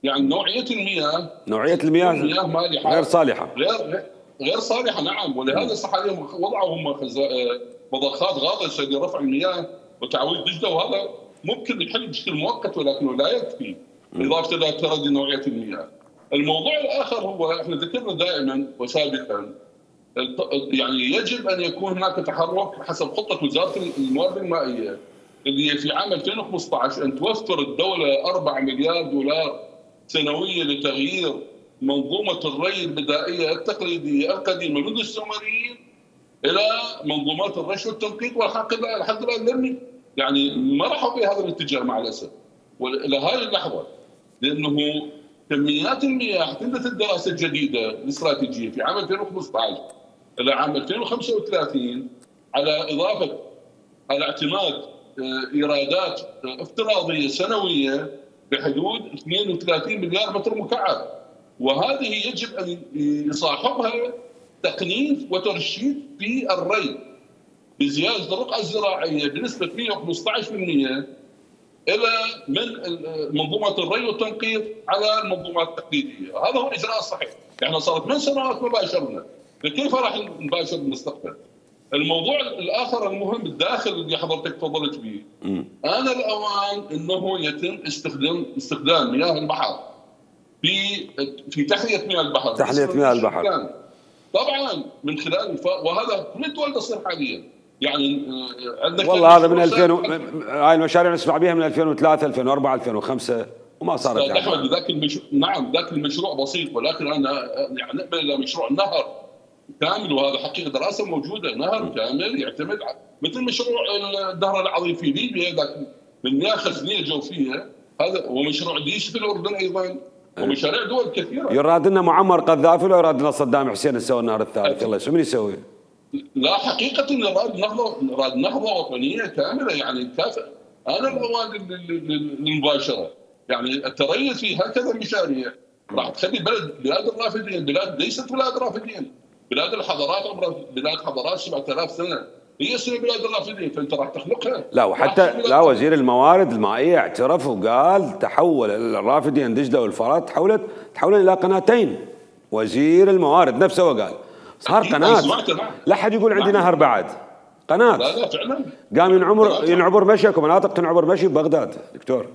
يعني نوعيه المياه، نوعيه المياه مياه مالحه غير صالحه، غير صالحه. نعم، ولهذا صح عليهم وضعوا هم مضخات غاطسه لرفع المياه وتعويض دجله، وهذا ممكن يحل بشكل مؤقت ولكنه لا يكفي، اضافه الى تردي نوعيه المياه. الموضوع الاخر هو احنا ذكرنا دائما وسابقا، يعني يجب ان يكون هناك تحرك حسب خطه وزاره الموارد المائيه اللي في عام 2015 ان توفر الدوله 4 مليار دولار سنويا لتغيير منظومه الري البدائيه التقليديه القديمه منذ السومريين الى منظومات الرش والتنقيط، والحق لحد الان لم يعني ما راحوا في هذا الاتجاه مع الاسف. والى هذه اللحظه لانه كميات المياه اعتمدت الدراسه الجديده الاستراتيجيه في عام 2015 الى عام 2035 على اضافه على اعتماد ايرادات افتراضيه سنويه بحدود 32 مليار متر مكعب، وهذه يجب ان يصاحبها تقنين وترشيد في الري بزياده الرقعه الزراعيه بنسبه 115% الى من منظومه الري والتنقيط على المنظومات التقليديه. هذا هو الاجراء الصحيح. احنا صار 8 سنوات ما باشرنا، فكيف راح نباشر بالمستقبل؟ الموضوع الاخر المهم الداخل اللي حضرتك تفضلت به، انا الاوان انه يتم استخدام مياه البحر في تحليه مياه البحر، تحليه مياه البحر طبعا من خلال وهذا كل الدول تصير حاليا. يعني عندك والله هذا من 2000 هاي المشاريع نسمع بها من 2003 2004 2005 وما صارت يعني احمد نعم ذاك المشروع بسيط، ولكن انا يعني نقبل الى مشروع النهر كامل، وهذا حقيقه دراسه موجوده، نهر كامل يعتمد مثل مشروع النهر العظيم في ليبيا ذاك من مياه خزنيه جوفيه، هذا ومشروع ديش في الاردن ايضا، ومشاريع دول كثيره. يراد لنا معمر قذافي ولا يراد لنا صدام حسين يسوي النهر الثالث؟ الله شو من يسوي؟ لا حقيقه نراد نهضه وطنيه كامله يعني كافئ. انا الاوان للمباشره يعني التريث في هكذا مشاريع راح تخلي بلاد الرافدين، بلاد ليست بلاد رافدين، بلاد الحضارات بلاد حضارات 7000 سنه هي اسمها بلاد الرافدين، فانت راح تخلقها. لا وحتى لا وزير الموارد المائيه اعترف وقال تحول الرافدين دجله والفرات تحولت الى قناتين. وزير الموارد نفسه وقال صار قناه، لا حد يقول عندي نهر بعد، قناه. لا فعلا قام ينعبر مشي، ومناطق تنعبر مشي ببغداد دكتور.